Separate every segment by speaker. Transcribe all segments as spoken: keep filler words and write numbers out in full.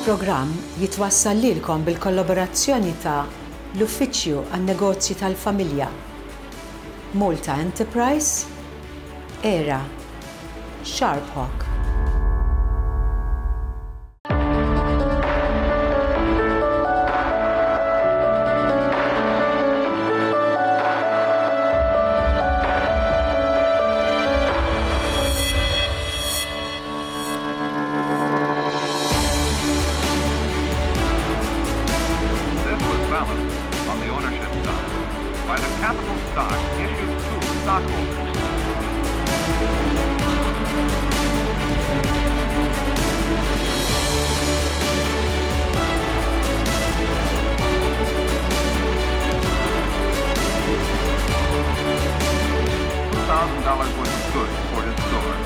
Speaker 1: Il-programm jitwassal lilkom bil-kollaborazzjoni ta' l-Uffiċċju għan-Negozji tal-Familja, Malta Enterprise, Era, Sharp Hawk.
Speaker 2: This was balanced on the ownership side by the capital stock issued to stockholders. Two thousand dollars worth of goods for his store.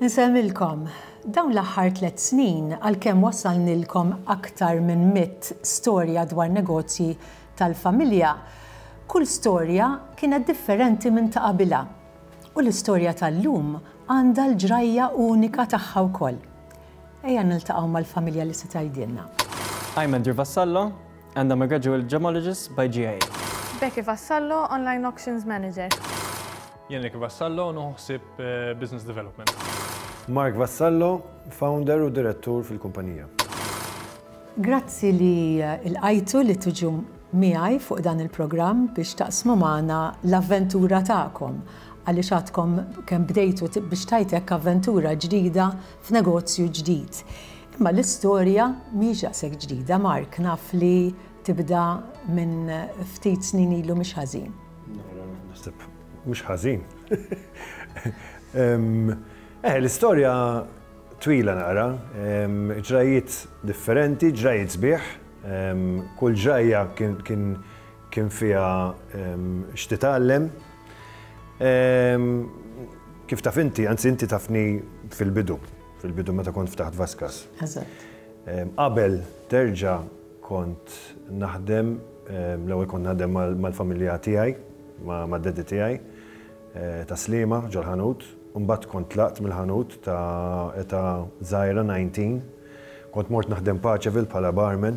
Speaker 1: Nsemmilkom, dawn l-aħħar tliet snin għalkemm wassalnilkom aktar minn mitt storja dwar negozji tal-familja, kull storja kienet differenti minn ta' qabilha. U l-istorja tal-lum għandha l-ġrajja unika tagħha wkoll. Ejja niltaqgħu mal-familja li se tgħidilna.
Speaker 3: I'm Andrew Vassallo, and I'm a graduate gemologist by GIA.
Speaker 4: Becky Vassallo, Online Auctions Manager.
Speaker 5: Jenrik Vassallo, naħseb eh, Business Development.
Speaker 6: Mark Vassallo, founder u direttur fil-kumpanija.
Speaker 1: Grazzi li lqajtu li tiġu miegħi fuq dan il-programm biex taqsmu magħna l-avventura tagħkom għaliex għadkom kemm bdejtu biex tajtek avventura ġdida f'negozju ġdid. Imma l-istorja mhix daqshekk ġdida, Mark, naf li tibda minn ftit snin ilu mhux ħażin.
Speaker 6: Naħseb mhux ħażin. Eh, l-istorja twila naqra, ġrajiet differenti, ġrajiet sbieħ, kull ġrajja kien kien kien fiha x'titgħallem. Kif taf inti, anzi inti tafni fil-bidu, fil-bidu meta kont ftaħt Vaskas.
Speaker 1: Eżatt.
Speaker 6: Qabel terġa' kont naħdem, l-ewwel kont naħdem mal-familja tiegħi, ma' daddy tiegħi, ta' Sliema ġol-ħanut. Mbagħad kont tlaqt mill-ħanut ta' età żgħira tmintax. Kont mort naħdem Paceville bħala barman.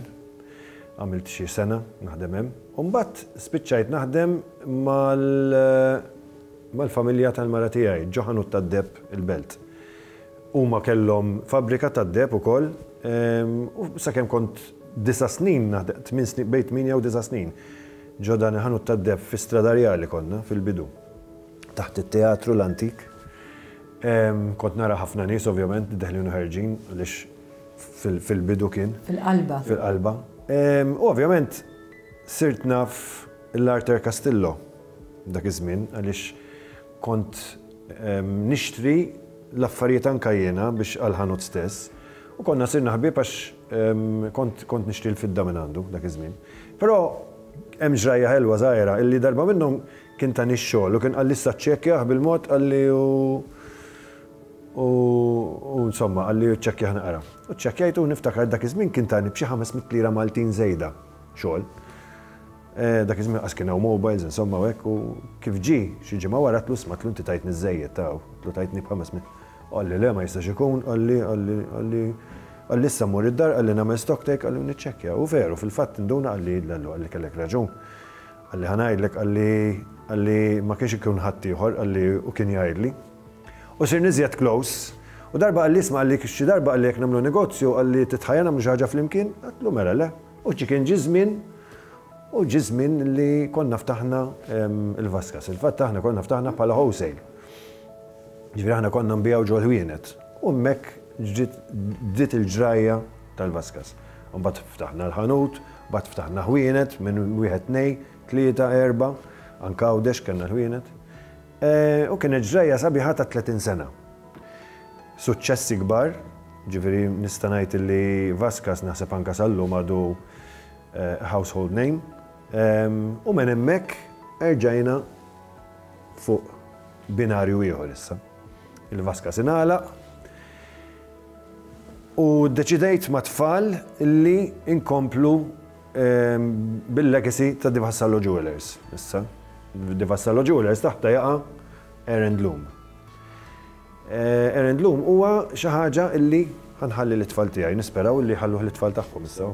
Speaker 6: Għamilt xi sena naħdem hemm. U mbagħad spiċċajt naħdem mal-familja tal-mara tiegħi, ġo ħanut tad-deheb il-Belt. Huma kellhom fabbrika tad-deheb ukoll, u sakemm kont disa' snin naħdem, tmien snin, bejn tmienja u disa' snin. Ġo dan il-ħanut tad-deheb fi Strada Rjali konna fil-bidu. Taħt it-teatru l-antik. Kont nara ħafna nies ovvjament deħlin u ħerġin għaliex fil-bidu kien.
Speaker 1: Fil-qalba.
Speaker 6: Fil-qalba. U ovvjament sirt naf l-Arthur Castillo dak iż-żmien għaliex kont nixtri l-affarijiet anka jiena biex għal-ħanut stess. U konna sirna ħbieb għax kont kont nixtri l-fidda minn għandu dak iż-żmien. Però hemm ġrajja ħelwa żgħira illi darba minnhom kien tani x-xogħol u kien qalli issa ċċekkjah bil-mod qalli u u insomma qalli ċċekkjah naqra. U ċċekkjajtu u niftakar dak iż-żmien kien tani b'xi ħames mitt lira Maltin żejda xogħol. Dak iż-żmien qas kien hawn mobiles insomma u hekk u kif ġie xi ġimgħa wara tlu sma tlu inti tajtni żejjed taw, tlu tajtni b'ħames mitt. Qalli le ma jistax ikun, qalli qalli qalli qalli issa mmur id-dar, qalli nagħmel stock take, qalli niċċekkja. U veru, fil-fatt induna qalli lallu, qalli kellek raġun. Qalli ħa ngħidlek, qalli qalli ma kienx ikun ħadd ieħor, qalli u kien jgħidli. U sirna iżjed close. U darba qalli isma' qalli xi darba qalli jekk nagħmlu negozju, qalli titħajja nagħmlu xi ħaġa flimkien, għedtlu mela le. U ġi kien ġi żmien, u ġi żmien li konna ftaħna il-Vaskas. Il-fatt aħna konna ftaħna bħala wholesale. Ġifieri aħna konna nbigħu ġol-ħwienet. U hemmhekk ġiet il-ġrajja tal-Vaskas. Mbagħad ftaħna l-ħanut, mbagħad ftaħna ħwienet minn wieħed tnejn, tlieta, erba', anke Għawdex kellna l-ħwienet. Eh, u kienet ġrajja sabiħa ta' tletin sena. Suċċessi kbar, ġifieri nista' ngħid li Vaskas naħseb anka sal-lum għadu eh, household name. U minn hemmhekk erġajna fuq binarju ieħor issa. Il-Vaskas ingħalaq u deċidejt ma' tfal li inkomplu bil-legacy ta' Di Vassallo Jewelers. Issa, Di Vassallo Jewelers taħta jaqa' Air and Loom. Eh, Air and Loom huwa xi ħaġa illi ħa nħalli lit-tfal tiegħi, nisperaw illi ħalluh lit-tfal tagħhom issa.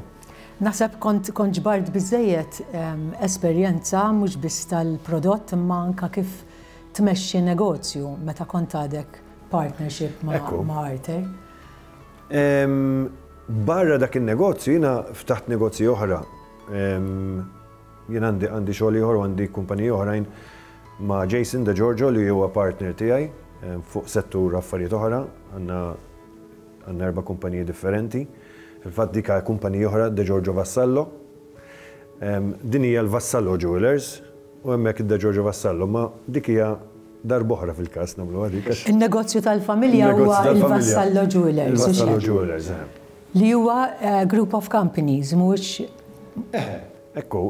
Speaker 1: Naħseb kont kont ġbart biżejjed esperjenza mhux biss tal-prodott imma anka kif tmexxi negozju meta kont għadek partnership ma' ma' Arthur.
Speaker 6: Barra dak il-negozju jiena ftaħt negozji oħra. Jien għandi għandi xogħol ieħor u għandi kumpaniji oħrajn ma' Jason De Giorgio li huwa partner tiegħi fuq settur affarijiet oħra, għandna għandna erba' kumpaniji differenti. Fil-fatt dik kumpaniji oħra De Giorgio Vassallo. Din hija l-Vassallo Jewelers u hemmhekk De Giorgio Vassallo, ma dik hija darb'oħra fil-każ nagħmlu dik.
Speaker 1: Il-negozju tal-familja huwa il-Vassallo Jewelers.
Speaker 6: Il-Vassallo Jewelers,
Speaker 1: Li huwa eh, group of companies, mhux
Speaker 6: Ekku,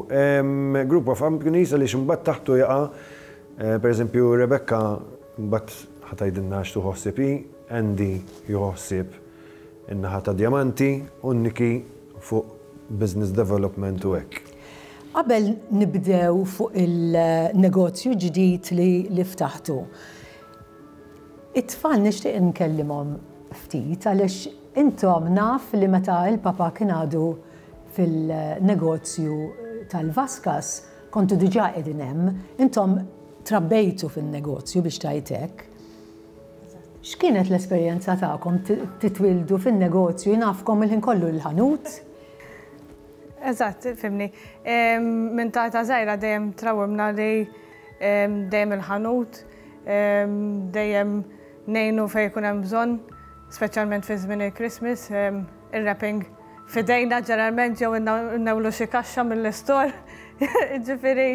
Speaker 6: group of companies għaliex imbagħad taħtu jaqa' eh, per eżempju Rebecca mbagħad ħa tgħidilna x'tieħu ħsieb hi, Andy jieħu ħsieb in-naħa ta' diamanti u Niki fuq business development u hekk.
Speaker 1: Qabel nibdew fuq il-negozju ġdid li, li ftaħtu. It-tfal nixtieq nkellimhom ftit għaliex intom naf li meta il-papa kien għadu fil-negozju tal-Vaskas kontu diġà qegħdin hemm, intom trabbejtu fil-negozju biex tajtek. X'kienet l-esperjenza tagħkom titwildu fin-negozju nafkom il-ħin kollu l-ħanut?
Speaker 4: Eżatt, fhimtni. Minn ta' ta' żgħira dejjem trawwimna li dejjem il-ħanut, dejjem ngħinu fejn jkun hemm bżonn, speċjalment fi żmien il-Christmas, il-wrapping f'idejna ġeneralment jew innewlu xi kaxxa mill-istor. Ġifieri.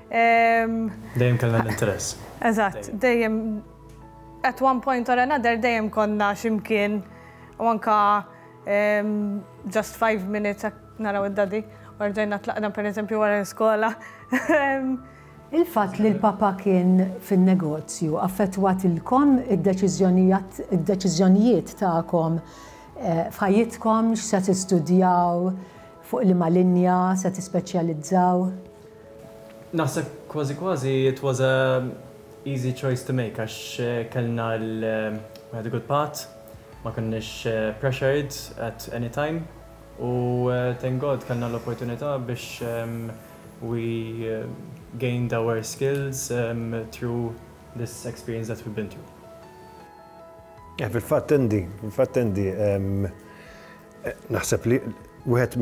Speaker 3: Dejjem kellna l-interess.
Speaker 4: Eżatt, dejjem at one point or another dejjem konna ximkien u anka just five minutes naraw id-daddy u rġajna tlaqna per eżempju wara l-iskola.
Speaker 1: Il-fatt li l-papa kien fin-negozju affettwatilkom id-deċiżjonijiet tagħkom eh, f'ħajjitkom x'se tistudjaw, fuq liema linja se tispeċjalizzaw?
Speaker 3: Naħseb kważi kważi it was a easy choice to make għax eh, kellna l we had a good path, ma konniex eh, pressured at any time u thank God kellna l-opportunità biex um, we uh, gained our skills um, through this experience that we've been through.
Speaker 6: Eh, fil-fatt Andy, fil-fatt Andy, naħseb li wieħed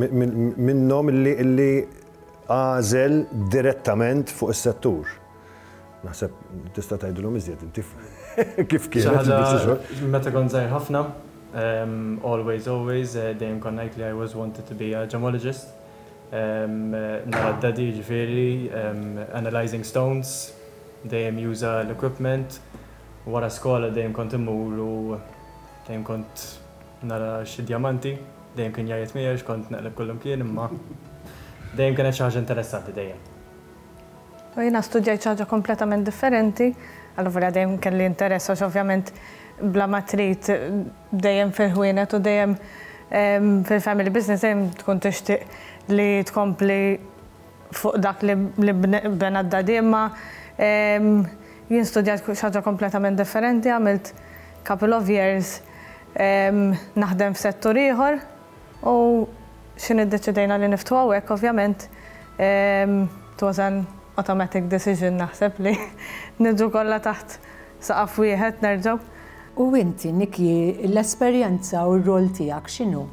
Speaker 6: minnhom illi għażel direttament fuq is-settur. Naħseb tista' tgħidilhom iżjed inti kif kienet.
Speaker 3: Meta kont żgħir ħafna, um, always, always, uh, dejjem kont ngħid li I was wanted to be a gemologist. Um, nara d-daddy ġifieri, um, analyzing stones, dejjem juża l-equipment. Wara skola dejjem kont immur u dejjem kont nara xi diamanti, dejjem kien jgħajjet miegħi kont naqleb kullum kien imma dejjem kienet xi ħaġa interessanti dejjem.
Speaker 4: U jiena studjajt xi ħaġa kompletament differenti, allura dejjem kelli interess għax ovvjament bla ma trid dejjem fil-ħwienet u dejjem fil-family business dejjem tkun tixtieq li tkompli fuq dak li bena d-daddy imma jien studjajt xi ħaġa kompletament differenti, għamilt couple of years naħdem f'settur ieħor u x'ħin iddeċidejna li niftħu hawnhekk ovvjament it was an automatic decision naħseb li niġu kollha taħt saqaf wieħed nerġgħu.
Speaker 1: U inti, Niki, l-esperjenza u r-rol tiegħek x'inhu?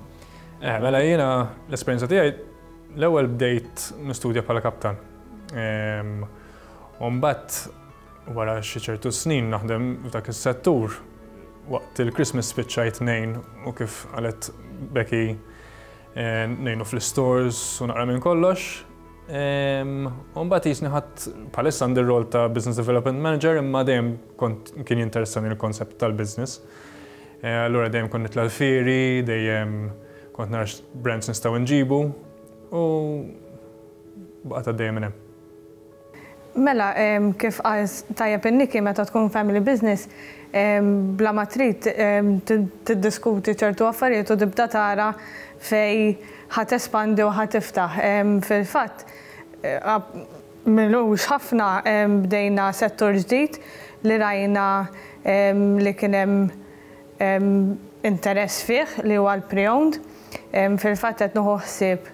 Speaker 5: Eh, mela jiena l-esperjenza tiegħi l-ewwel bdejt nistudja bħala kaptan. U mbagħad wara xi ċertu snin naħdem f'dak is-settur waqt il-Christmas spiċċajt ngħin u kif qalet Becky ngħinu fl-stores u naqra minn kollox. U mbagħad jiġifieri ħadt bħalissa għandi r-rol ta' Business Development Manager, imma dejjem kont kien jinteressani l-konsept tal-business. Allura dejjem kont nitla' l-fieri, dejjem kont nara brands nistgħu nġibu u baqgħet għaddejja minn hemm.
Speaker 4: Mela, kif qal tajjeb in-Niki, meta tkun family business, bla ma trid tiddiskuti ċertu affarijiet u tibda tara fej ħa tespandi u ħa tiftaħ. Fil-fatt, m'ilux ħafna bdejna settur ġdid li rajna li kien hemm interess fih, li huwa l-pre-owned. Fil-fatt qed nieħu ħsieb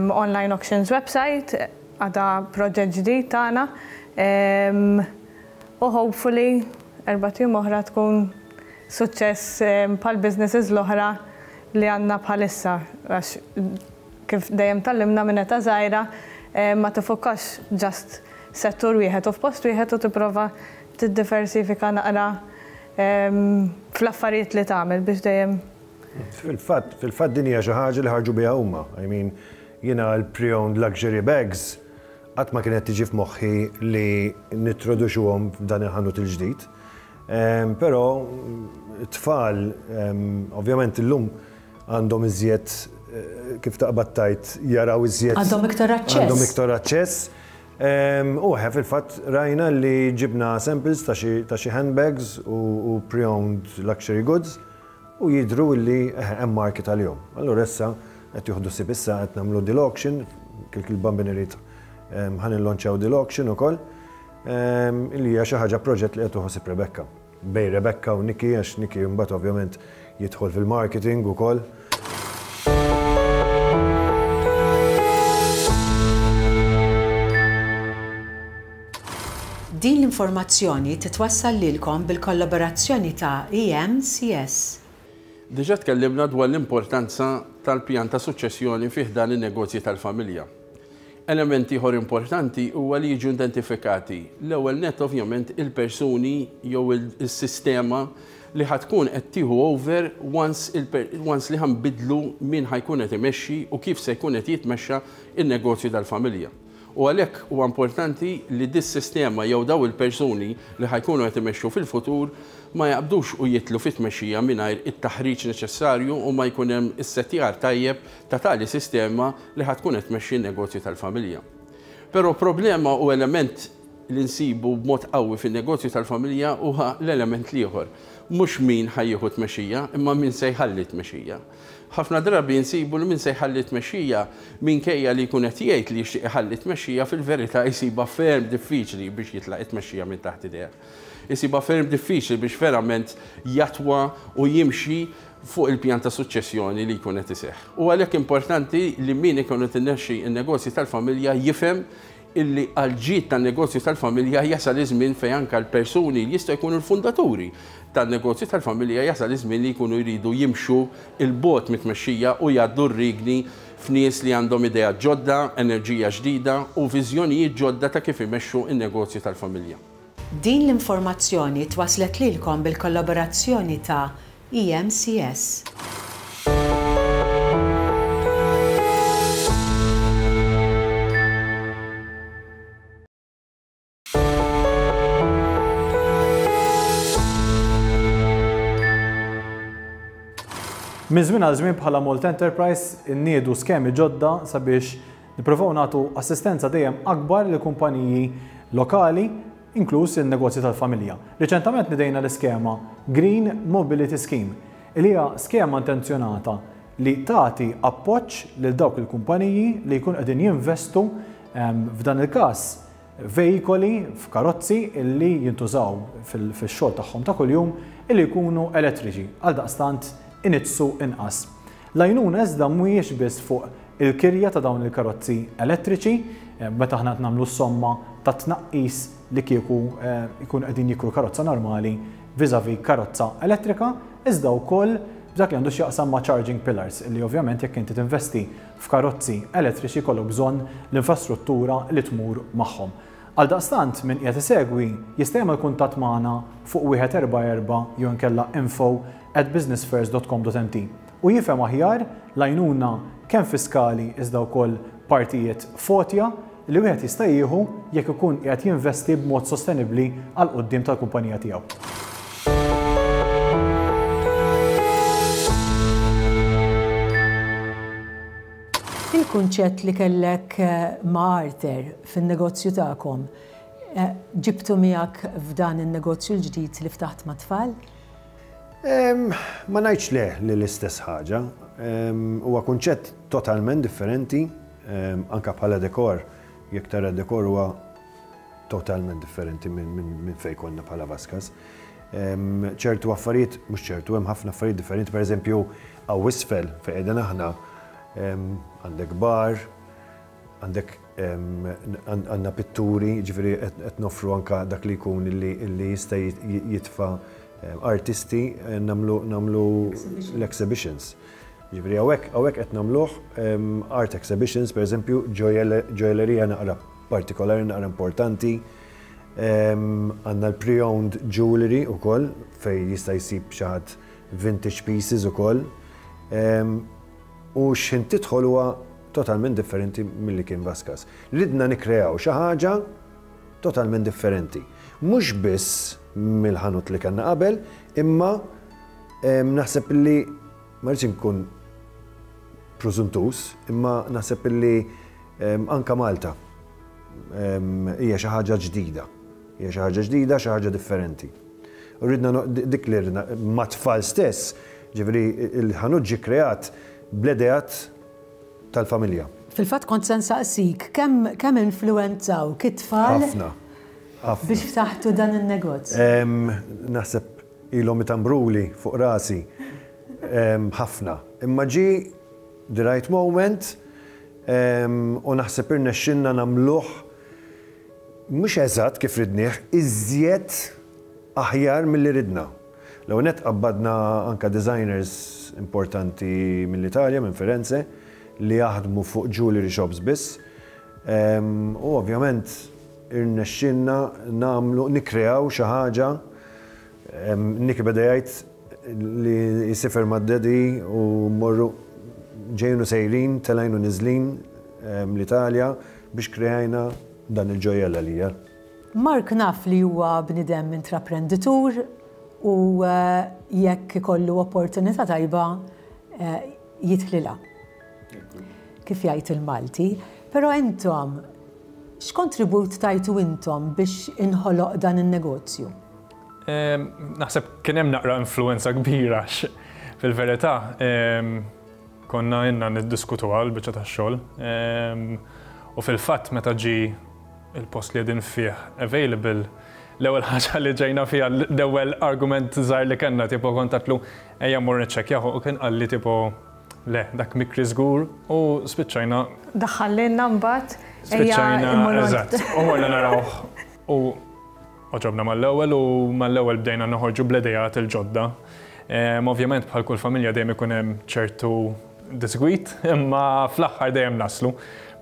Speaker 4: online auctions website, għada proġett ġdid tagħna. U hopefully erbat ijiem oħra tkun suċċess bħal businesses l-oħra li għandna bħalissa. Għax kif dejjem tgħallimna minn età żgħira, ma tiffokax just settur wieħed u f'post wieħed u tipprova tiddiversifika naqra fl-affarijiet li tagħmel biex dejjem
Speaker 6: Fil-fatt, fil-fatt din hija xi ħaġa li ħarġu biha huma. I mean, jiena l-pre-owned luxury bags qatt ma kienet tiġi f'moħħi li nintroduċuhom f'dan il-ħanut il-ġdid. Però t-tfal, ovvjament, illum għandhom iżjed, eh, kif taqbad tgħid, jaraw iżjed.
Speaker 1: Għandhom iktar aċċess.
Speaker 6: Għandhom iktar aċċess. U fil-fatt rajna li ġibna samples ta' xi handbags u pre-owned luxury goods u jidru li hemm market għalihom. Allura issa qed jieħdu ħsieb, issa qed nagħmlu dil auction, kil il-Bambin irid ħa nillonċjaw dil auction ukoll, illi hija xi ħaġa, proġett li qed tieħu ħsieb Rebecca. Bejn Rebecca u Niki, għax Niki mbagħad ovvjament jidħol fil-marketing ukoll.
Speaker 1: Din l-informazzjoni titwassal lilkom bil-kollaborazzjoni ta' E M C S.
Speaker 7: Diġa tkellimna dwar l-importanza tal-pjan ta' suċċessjoni fih dan in-negozji tal-familja. Element ieħor importanti huwa li jiġu identifikati l-ewwel net ovvjament il-persuni jew il-sistema li ħa tkun qed tieħu over once, once li ħa nbiddlu min ħa jkun qed imexxi u kif se jkun qed jitmexxa in-negozju tal-familja. U għalhekk huwa importanti li dis-sistema jew daw il-persuni li ħa jkunu qed imexxu fil-futur ma jaqbdux u jidħlu fit-tmexxija mingħajr it-taħriġ neċessarju u ma jkun hemm is-settjar tajjeb ta' tali sistema li ħa tkun qed tmexxi n-negozju tal-familja. Però problema u element li nsibu b'mod qawwi fin-negozju tal-familja huwa l-element l-ieħor. Mhux min ħa jieħu tmexxija, imma min se jħalli tmexxija. Ħafna drabi nsibu li min se jħalli tmexxija, minkejja li jkun qed jgħid li jixtieq iħalli tmexxija, fil-verità jsibha ferm diffiċli biex jitlaq it-tmexxija minn taħt idejh. Isibha ferm diffiċli biex verament jatwa u jimxi fuq il-pjan ta' suċċessjoni li jkun qed iseħħ. U għalhekk importanti li min ikun qed imexxi n-negozji tal-familja jifhem illi għall-ġid tan-negozju tal-familja jasal iż-żmien fejn anke l-persuni li jistgħu jkunu l-fundaturi tan-negozju tal-familja jasal iż-żmien li jkunu jridu jimxu 'l bogħod mit-tmexxija u jgħaddu r-riedni f'nies li għandhom idea ġodda, enerġija ġdida u viżjonijiet ġodda ta' kif imexxu n-negozju tal-familja.
Speaker 1: Din l-informazzjoni twaslet lilkom bil-kollaborazzjoni ta' E M C S.
Speaker 5: Minn żmien għal żmien bħala Malta Enterprise inniedu skemi ġodda sabiex nippruvaw nagħtu assistenza dejjem akbar lil kumpaniji lokali, inkluż il-negozji tal-familja. Riċentament nidejna l-iskema Green Mobility Scheme, li hija skema intenzjonata li tagħti appoġġ lil dawk il-kumpaniji li jkun qegħdin jinvestu ehm, f'dan il-każ veikoli, f'karozzi illi jintużaw fil-xogħol tagħhom ta' kuljum illi jkunu elettriċi, għaldaqstant iniġġsu inqas. L-għajnuna iżda mhuwiex biss fuq il-kirja ta' dawn il-karozzi elettriċi, eh, meta aħna nagħmlu somma ta' tnaqqis li kieku eh, jkun qegħdin jikru karozza normali vis-a-vis karozza elettrika, iżda wkoll b'dak li għandu x'jaqsam ma' charging pillars, li ovvjament jekk inti tinvesti f'karozzi elettriċi jkollok bżonn l-infrastruttura li tmur magħhom. Għaldaqstant min qiegħed isegwi jista' jagħmel kuntatt magħna fuq wieħed erba' erba' jew inkella info at businessfirst dot com dot M T u jifhem aħjar l-għajnuna kemm fiskali iżda wkoll partijiet f'għotja li wieħed jista' jieħu jekk ikun qiegħed jinvesti b'mod sostenibbli għal quddiem tal-kumpanija tiegħu.
Speaker 1: Il-kunċett li kellek ma' Arthur fin-negozju tagħkom, ġibtu miegħek f'dan in-negozju l-ġdid li ftaħt mat-tfal?
Speaker 6: Ma ngħidx le li l-istess ħaġa. Huwa kunċett totalment differenti, anka bħala dekor, jekk tara dekor huwa totalment differenti minn fejn konna bħala Vaskas. Ċertu affarijiet, mhux ċertu, hemm ħafna affarijiet differenti, pereżempju hawn isfel fejn qegħdin aħna, għandek bar, għandek għandna pitturi, ġifieri qed noffru anka dak li jkun li jista' jitfa' artisti nagħmlu l-exhibitions. Ġifieri hawnhekk hawnhekk qed nagħmluh art exhibitions, pereżempju ġojellerija naqra partikolari, naqra importanti. Għandna l-pre-owned jewelry ukoll fejn jista' jsib xi ħadd vintage pieces ukoll. U x'ħin tidħol huwa totalment differenti milli kien Vaskas. Ridna nikkreaw xi ħaġa totalment differenti. Mhux biss mill-ħanut li kellna qabel, imma naħseb li ma rridx inkun preżuntus, imma naħseb li anka Malta hija xi ħaġa ġdida. Hija xi ħaġa ġdida, xi ħaġa differenti. U ridna dik li ridna mat-tfal stess, ġifieri il-ħanut ġie kreat bl-ideat tal-familja.
Speaker 1: Fil-fatt kont se nsaqsik, kemm kemm influwenzawk it-tfal?
Speaker 6: Ħafna. Ħafna.
Speaker 1: Biex ftaħtu dan in-negozju?
Speaker 6: Naħseb ilhom itambruli fuq rasi ħafna. Imma ġie the right moment u naħseb irnexxinna nagħmluh mhux eżatt kif ridnieh, iżjed aħjar milli ridna. L-ewwel nett qabbadna anka designers importanti mill-Italja, minn Firenze, li jaħdmu fuq jewelry shops biss. U ovvjament irnexxinna nagħmlu, nikkreaw xi ħaġa. Nick beda jgħid li jsifer mad-daddy u mmorru ġejjin u sejrin, telgħin u niżlin l-Italja biex kreajna dan il-ġojjell għalija.
Speaker 1: Mark naf li huwa bniedem intraprenditur u jekk ikollu opportunità tajba jidħlilha. Kif jgħid il-Malti, però intom x'kontribut tajtu intom biex inħoloq dan in-negozju?
Speaker 8: Naħseb kien hemm naqra influenza kbira fil-verità. Konna inna niddiskutu għal biċċa tax-xogħol. U fil-fatt meta ġie il-post li qegħdin fih available, l-ewwel ħaġa li ġejna fiha, l-ewwel argument żgħir li kellna, tipo kont għedtlu ejja mmur niċċekkjah u kien qalli tipo le, dak mikri żgur u spiċċajna.
Speaker 4: Daħħalilna mbagħad ejja
Speaker 8: Spiċċajna,
Speaker 4: immorru.
Speaker 8: Eżatt, u morna narawh u għoġobna mal-ewwel u mal-ewwel bdejna noħorġu bl-idejat il-ġodda. Ovvjament bħal kull familja dejjem ikun hemm ċertu disgwit, imma fl-aħħar dejjem naslu.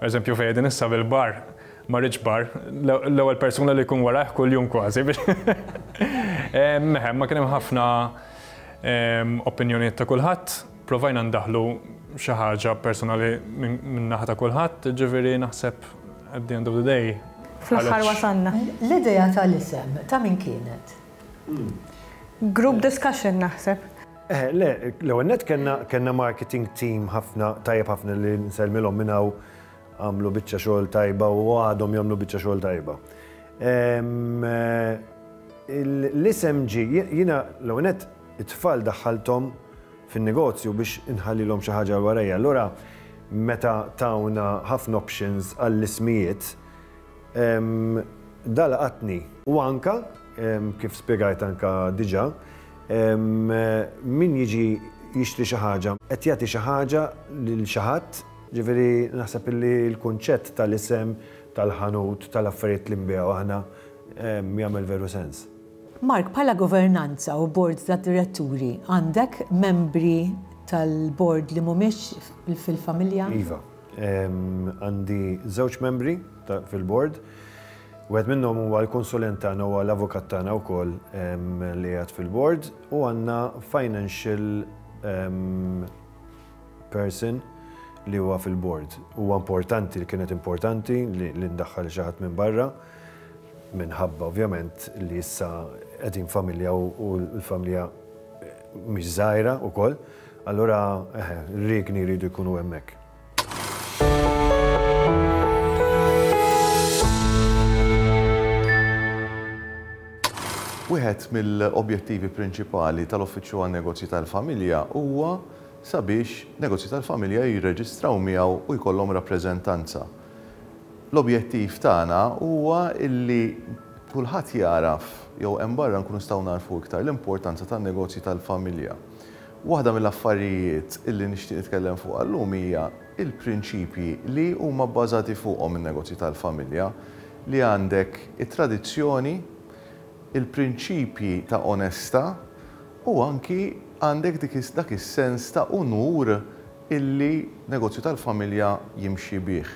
Speaker 8: Per eżempju fejn qegħdin issa bil-bar, ma rridx bar, l-ewwel persuna li jkun warajh kuljum kważi. Meħem, ma kien hemm ħafna opinjonijiet ta' kulħadd, provajna ndaħlu xi ħaġa personali minn naħa ta' kulħadd, ġifieri naħseb at the end of the day.
Speaker 4: Fl-aħħar wasalna.
Speaker 1: L-idea tal-isem ta' min kienet?
Speaker 4: Group discussion naħseb.
Speaker 6: Eh, le, l-ewwel nett kellna kellna marketing team ħafna tajjeb ħafna li nsellmilhom minn hawn, għamlu biċċa xogħol tajba u għadhom jagħmlu biċċa xogħol tajba. L-isem ġie, jiena l-ewwel nett it-tfal daħħalthom fin-negozju biex inħallilhom xi ħaġa warajja. Allura meta tawna ħafna options għall-ismijiet, da laqatni. U anka, kif spjegajt anka diġà, min jiġi jixtri xi ħaġa, qed jagħti xi ħaġa lil xi ħadd, ġifieri naħseb li l-kunċett tal-isem, tal-ħanut, tal-affarijiet li nbigħu aħna jagħmel veru sens.
Speaker 1: Mark, bħala governanza u board ta' diretturi, għandek membri tal-board li mhumiex fil-familja?
Speaker 6: Iva, għandi żewġ membri fil-board. Wieħed minnhom huwa l-konsulent tagħna huwa l-avukat tagħna wkoll li qiegħed fil-board u għandna financial person li huwa fil-board. Huwa importanti li kienet importanti li, li ndaħħal xi ħadd minn barra, minħabba ovvjament li issa qegħdin familja u, u l-familja mhix żgħira wkoll, allura eħe, r-riegni jridu jkunu hemmhekk.
Speaker 9: Wieħed mill-objettivi prinċipali tal-Uffiċċju għan-Negozji tal-Familja huwa sabiex negozji tal-familja jirreġistraw miegħu u jkollhom rappreżentanza. L-objettiv tagħna huwa illi kulħadd jaraf jew hemm barra nkunu nistgħu narfu iktar l-importanza tan-negozji tal-familja. Waħda mill-affarijiet illi nixtieq nitkellem fuqha llum hija il-prinċipji li huma bbażati fuqhom in-negozji tal-familja, li għandek it-tradizzjoni, il-prinċipji ta' onestà u anki għandek dik is-, dak is-sens ta' unur illi negozju tal-familja jimxi bih.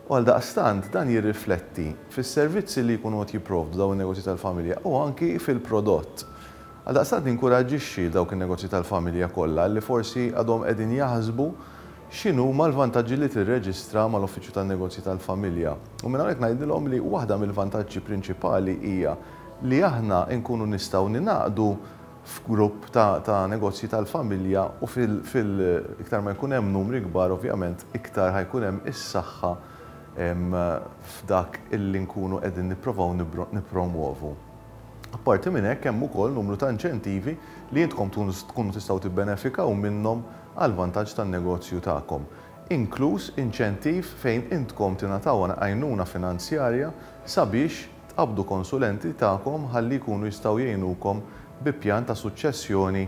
Speaker 9: U għal daqstant dan jirrifletti fis-servizzi li jkunu qed jipprovdu dawn in-negozji tal-familja u anki fil-prodott. Għal daqstant ninkoraġġixxi dawk in-negozji tal-familja kollha li forsi għadhom qegħdin jaħsbu x'inhuma l-vantaġġi li tirreġistra mal-Uffiċċju tan-Negozji tal-Familja. U minn hawnhekk ngħidilhom li waħda mill-vantaġġi prinċipali hija li aħna nkunu nistgħu ninaqdu f'grupp ta', ta' negozji tal-familja u fil, fil iktar ma jkun hemm numri kbar ovvjament iktar ħajkun hemm is-saħħa f'dak illi nkunu qegħdin nipprovaw nippromuovu. Apparti minn hekk hemm ukoll numru ta' inċentivi li intkom tkunu tistgħu tibbenefikaw minnhom għal vantaġġ tan-negozju tagħkom, inkluż inċentiv fejn intkom tingħataw għajnuna finanzjarja sabiex tqabdu konsulenti tagħkom ħalli jkunu jistgħu jgħinukom bi pjan ta' suċċessjoni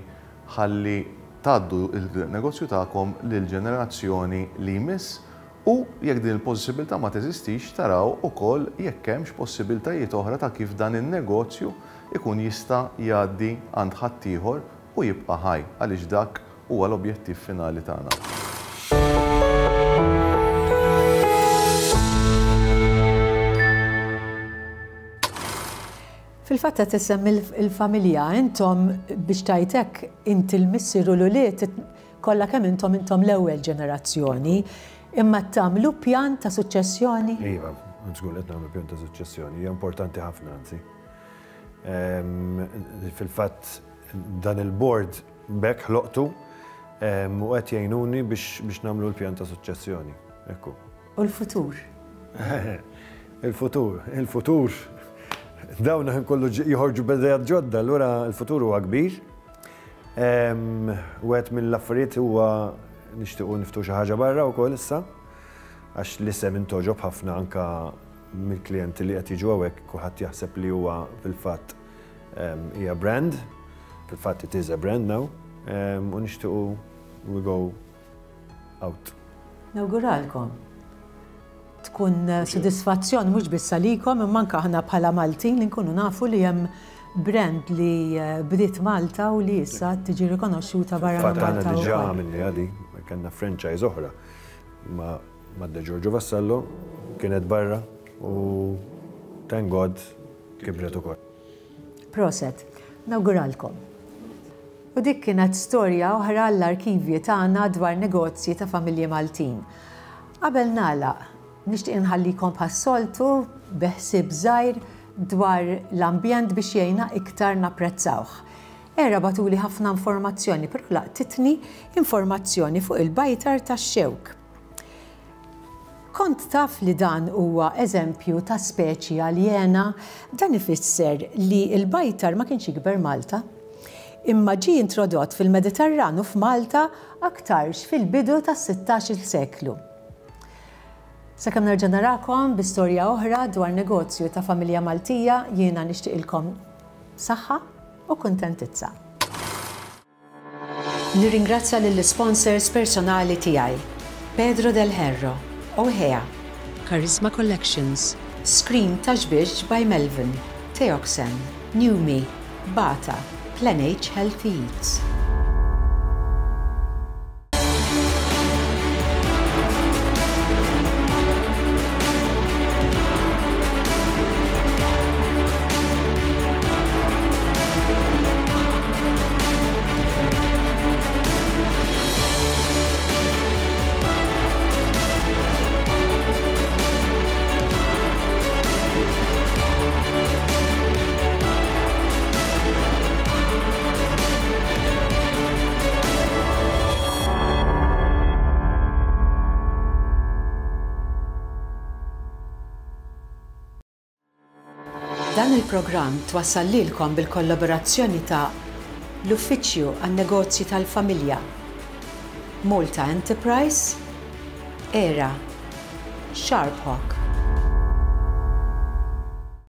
Speaker 9: ħalli tgħaddu il-negozju tagħkom lil ġenerazzjoni li jmiss, u jekk din il-possibilità ma teżistix taraw ukoll jekk hemmx possibiltajiet oħra ta' kif dan in-negozju ikun jista' jgħaddi għand ħaddieħor u jibqa' ħaj, għaliex dak huwa l-objettiv finali tagħna.
Speaker 1: Fil-fatt qed issemmi il-familja, intom biex tajtek inti l-missier u l-ulied kollha kemm intom intom l-ewwel ġenerazzjoni, imma tagħmlu pjan ta' suċċessjoni?
Speaker 6: Iva, żgur qed nagħmlu pjan ta' suċċessjoni, hija importanti ħafna anzi. Fil-fatt dan il-board b'hekk ħloqtu u qed jgħinuni biex nagħmlu l-pjan ta' suċċessjoni. Ekku.
Speaker 1: U l-futur?
Speaker 6: Il-futur, il-futur. Dawn kollu joħorġu b'idejat ġodda, allura l-futur huwa kbir. Wieħed mill-affarijiet huwa nixtiequ niftu xi ħaġa barra wkoll issa, għax l-isem intoġob ħafna anka mill-klijenti li qed jiġu hawnhekk, kulħadd jaħseb li huwa fil-fatt hija brand, fil-fatt it is a brand now, u nixtiequ we go out.
Speaker 1: Nawguralkom. Tkun sodisfazzjon mhux biss għalikom imma anke aħna bħala Maltin li nkunu nafu li hemm brand li bdiet Malta u li issa tiġi rikonoxxuta barra minn Malta.
Speaker 6: Aħna diġà għamilni għadi, kellna franchise oħra ma' De Giorgio Vassallo, kienet barra u thank God kibret ukoll.
Speaker 1: Proset, nawguralkom. U dik kienet storja oħra għall-arkivji tagħna dwar negozji ta' familji Maltin. Qabel nagħlaq, nixtieq inħallikom bħas-soltu bi ħsieb żgħir dwar l-ambjent biex jgħinna iktar napprezzawh. Era batuli ħafna informazzjoni, però laqtitni informazzjoni fuq il-bajtar tax-xewk. Kont taf li dan huwa eżempju ta' speċi aljena, dan ifisser li l-bajtar ma kienx jikber Malta, imma ġie introdott fil-Mediterranu f'Malta aktarx fil-bidu tas-sittax-il seklu. Sakemm nerġa' narakom bi storja oħra dwar negozju ta' familja Maltija, jiena nixtieqilkom saħħa u kuntentizza. Nirringrazzja lill-sponsors personali tiegħi: Pedro Del Herro, Ohea, Charisma Collections, Screen Taxbix by Melvin, Teoxen, Newme, Bata, Plan H Healthy Eats. Dan il-programm twassal lilkom bil-kollaborazzjoni ta' l-Uffiċċju għan-Negozji tal-Familja, Malta Enterprise, Era, Sharp Hawk.